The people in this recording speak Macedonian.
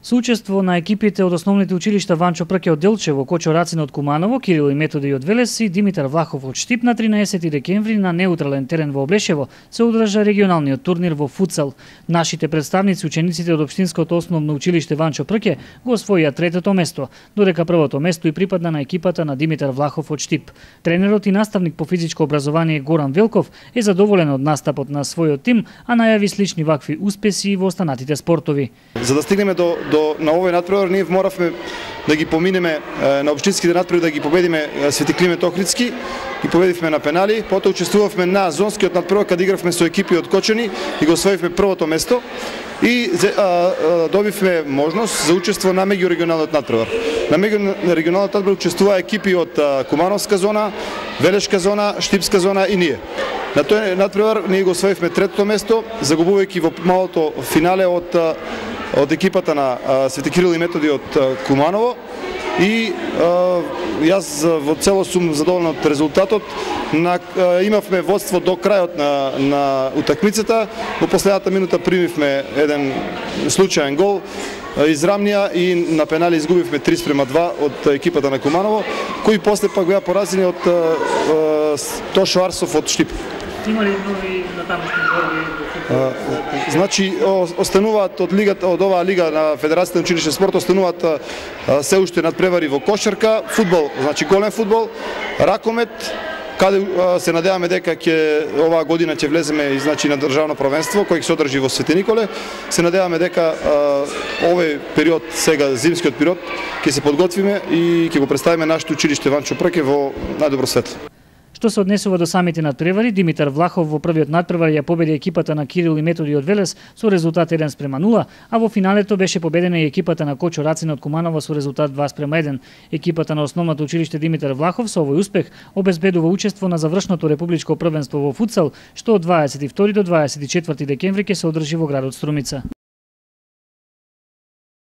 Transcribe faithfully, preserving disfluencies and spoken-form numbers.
Со учество на екипите од основните училишта Ванчо Прке од Делчево, Кочо Рацин од Куманово, Кирил и Методи од Велес и Димитар Влахов од Штип на тринаесети декември на неутрален терен во Облешево се одржа регионалниот турнир во футсал. Нашите представници, учениците од Општинското основно училиште Ванчо Прке, го освоија третото место, додека првото место и припадна на екипата на Димитар Влахов од Штип. Тренерот и наставник по физичко образование Горан Велков е задоволен од настапот на својот тим, а најави слични вакви успеси во останатите спортови. За да стигнеме до, до на овој надпревар, ние моравме да ги поминеме на општинските надпревари, да ги победиме Свети Климент Охридски, ги победивме на пенали, потоа учествувавме на зонскиот надпревар каде игравме со екипи од Кочани и го освоивме првото место и а, а, добивме можност за учество на меѓурегионалниот надпревар. На меѓурегионалниот надпревар учествуваа екипи од а, Кумановска зона, Велешка зона, Штипска зона и ние. На тој надпревар ние го освоивме третото место, загубувајќи во малото финале од од екипата на а, Свети Кирил и Методи од а, Куманово и а, јас во целост сум задоволен од резултатот. На, а, имавме водство до крајот на, на утакмицата, во последната минута примивме еден случаен гол, израмнија и на пенали изгубивме три спрема два од екипата на Куманово, кои после пак беа поразени од Тошо Арсов од Штип. Има ли нови натамошни борби? Значи, остануваат од лигата, од оваа лига на Федерацијата на училишен спорт, остануваат се уште надпревари во кошарка, фудбал, значи голем фудбал, ракомет, каде се надеваме дека ќе оваа година ќе влеземе и значи на државно првенство кој ќе се одржи во Свети Николе. Се надеваме дека овој период, сега зимскиот период, ќе се подготвиме и ќе го представиме нашето училиште Ванчо Прке во најдобро светло. Што се однесува до самите надпревари, Димитар Влахов во првиот надпревар ја победи екипата на Кирил и Методи од Велес со резултат еден спрема нула, а во финалето беше победена и екипата на Кочо Рацин од Куманово со резултат два спрема еден. Екипата на основното училиште Димитар Влахов со овој успех обезбедува учество на завршното републичко првенство во футсал, што од дваесет и втори до дваесет и четврти декември ќе се одржи во градот Струмица.